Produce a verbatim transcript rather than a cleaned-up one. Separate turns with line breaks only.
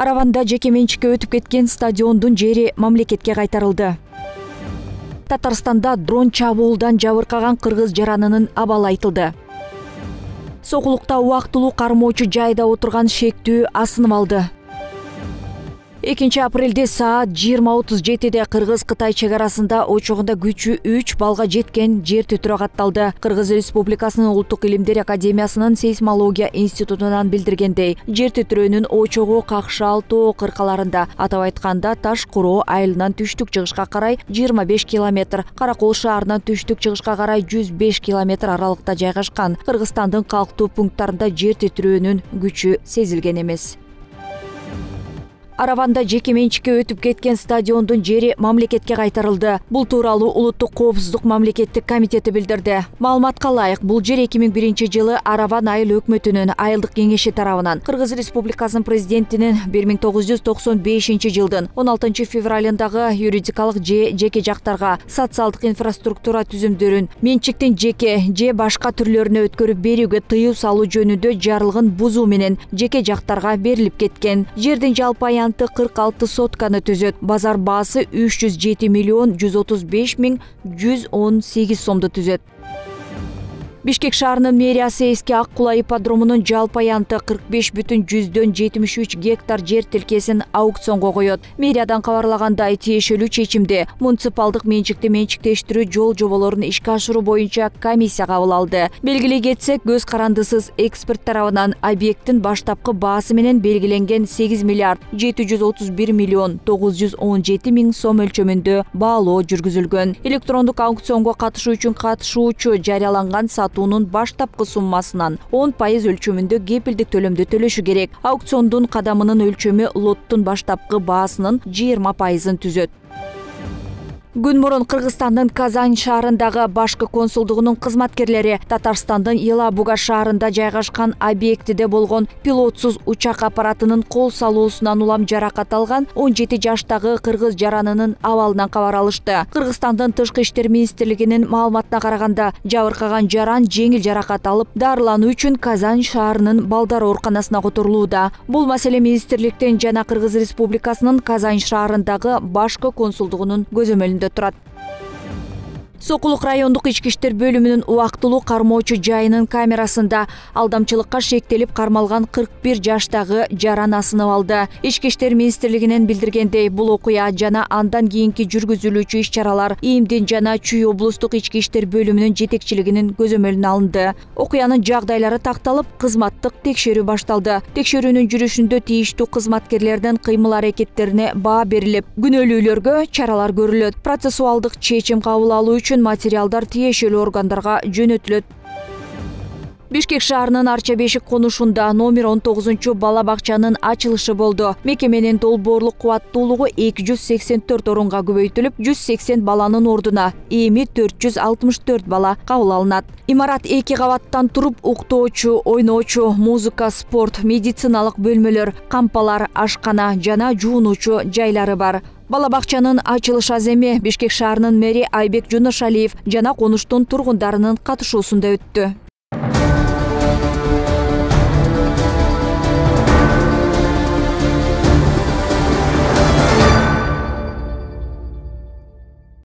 Араванда жеке менчикке өтүп кеткен стадиондун жери мамлекетке кайтарылды. Татарстанда дрон чабуулдан жабыркаган кыргыз жаранынын абалы айтылды. Сокулукта убактылуу кармоочу жайда отурган шектүү асынып алды. экинчи апрелде саат жыйырма отуз жетиде Кыргыз-Кытай чек арасында очогунда күчү үч балга жеткен жер титирөө катталды. Кыргыз Республикасынын Улуттук илимдер академиясынын сейсмология институтунан билдиргендей, жер титирөөнүн очогу Какшал тоо кыркаларында, атап айтканда Таш Куроо айылынан түштүк-чыгышка карай жыйырма беш километр, Каракол шаарынан түштүк-чыгышка карай жүз беш километр аралыкта жайгашкан. Кыргызстандын калктуу пункттарында жер титирөөнүн күчү сезилген эмес. Араванда жеке менчикке өтүп кеткен стадиондун жери мамлекетке кайтарылды. Бул тууралуу Улуттук коопсуздук мамлекеттик комитети билдирди. Маалыматка ылайык, бул жер эки миң биринчи жылы Араван айыл өкмөтүнүн айылдык кеңеши тарабынан Кыргыз Республикасынын президентинин бир миң тогуз жүз токсон бешинчи жылдын он алтынчы февралындагы юридикалык же жеке жактарга социалдык инфраструктура түзүмдөрүн менчиктин жеке же башка түрлөрүнө өткөрүп берүүгө тыюу салуу жөнүндө жарлыгын бузуу менен жеке жактарга берилип кеткен. Жердин жалпы аянты кырк алты сотканы түзөт. Базар баасы үч жүз жети миллион жүз отуз беш миң жүз он сегиз сомду түзөт. Бишкек шаарынын мэриясы эски Ак Кула ипподромунун жалпы аянты кырк беш бүтүн жүздөн жетимиш үч гектар жер тилкесин аукционго коет. Мэриядан кабарлагандай, тиешелүү чечимде муниципалдык менчикти менчиктештирүү жол жоболорун ишке ашыруу боюнча комиссия кабыл алды. Белгилей кетсек, көз карандысыз эксперт тарабынан объекттин баштапкы баасы менен белгиленген сегиз миллиард жети жүз отуз бир миллион тогуз жүз он жети миң сом өлчөмүндө баалоо жүргүзүлгөн. Электрондук аукционго катышуу үчүн катышуучу жарыяланган сатуунун баштапкы суммасынан он пайыз өлчөмүндө кепилдик төлөмдү төлөшү керек. Аукциондун кадамынын өлчөмү лоттун баштапкы баасынын жыйырма пайызын түзөт. Күн мурун Кыргызстандын Казань шаарындагы башкы консулдугунун кызматкерлери Татарстандын Елабуга шаарында жайгашкан объектиде болгон пилотсуз учак аппаратынын кол салуусунан улам жаракат алган он жети жаштагы кыргыз жаранынын абалынан кабар алышты. Кыргызстандын Тышкы иштер министрлигинин маалыматына караганда, жабыркаган жаран жеңил жаракат алып, дарылануу үчүн Казань шаарынын балдар ооруканасына которулууда. Бул маселе министрликтин жана Кыргыз Республикасынын Казань шаарындагы башкы консулдугунун көзөмөлүндө турат. Сокулук райондук ички иштер бөлүмүнүн убактылуу кармоочу жайынын камерасында алдамчылыкка шектелип кармалган кырк бир жаштагы жаран асынып алды. Ички иштер министрлигинен билдиргендей, бул окуя жана андан кийинки жүргүзүлүүчү иш-чаралар ИИМдин жана Чүй облустук ички иштер бөлүмүнүн жетекчилигинин көзөмөлүнө алынды. Окуянын жагдайлары такталып, кызматтык текшерүү башталды. Текшерүүнүн жүрүшүндө тийиштүү кызматкерлердин кыймыл-аракеттерине баа берилип, күнөөлүүлөргө чаралар көрүлөт. Процессуалдык чечим кабыл алуу үчүн материалдар тиешелүү органдарга жөнөтүлөт. Бишкек шаарынын Арча Бешик конушунда номер он тогузунчу бала бакчанын ачылышы болду. Мекеменин долбоорлук кубаттуулугу эки жүз сексен төрт орунга көбөйтүлүп, жүз сексен баланын ордуна эми төрт жүз алтымыш төрт бала кабыл алынат. Имарат эки кабаттан туруп, уктоочу, ойноочу, музыка, спорт, медициналык бөлмөлөр, кампалар, ашкана жана жуунуучу жайлары бар. Бала бакчанын ачылыш аземи Бишкек шаарынын мэри Айбек Жунушалиев жана конуштун тургундарынын катышуусунда өттү.